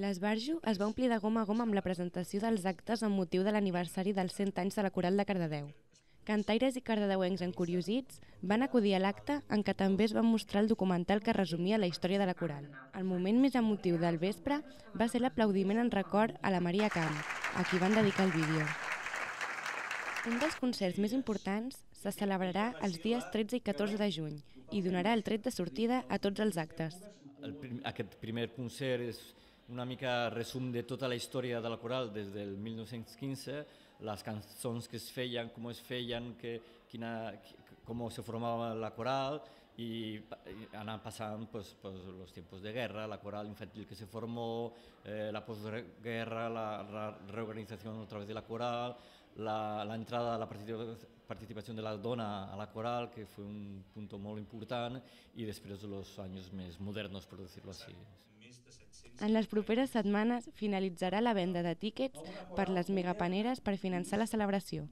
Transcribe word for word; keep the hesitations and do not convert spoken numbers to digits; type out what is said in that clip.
L'esbarjo es va omplir de gom a gom amb la presentació dels actes amb motiu de l'aniversari dels cent anys de la Coral de Cardedeu. Cantaires i cardedeuencs encuriosits van acudir a l'acte en què també es va mostrar el documental que resumia la història de la coral. El moment més emotiu del vespre va ser l'aplaudiment en record a la Maria Camp, a qui van dedicar el vídeo. Un dels concerts més importants se celebrarà els dies tretze i catorze de juny i donarà el tret de sortida a tots els actes. El, aquest primer concert és una mica resum de tota la història de la coral des del mil nou-cents quinze, les cançons que es feien, com es feien, que, quina, com se formava la coral i anar passant pues, pues, los tiempos de guerra, la coral infantil que se formó, eh, la posguerra, la, la reorganización otra vez de la coral, la, la entrada a la participació de la dona a la coral, que fue un punto molt important, i després los anys més modernos, per dir-ho així. En les properes setmanes finalitzarà la venda de tíquets per les megapaneres per finançar la celebració.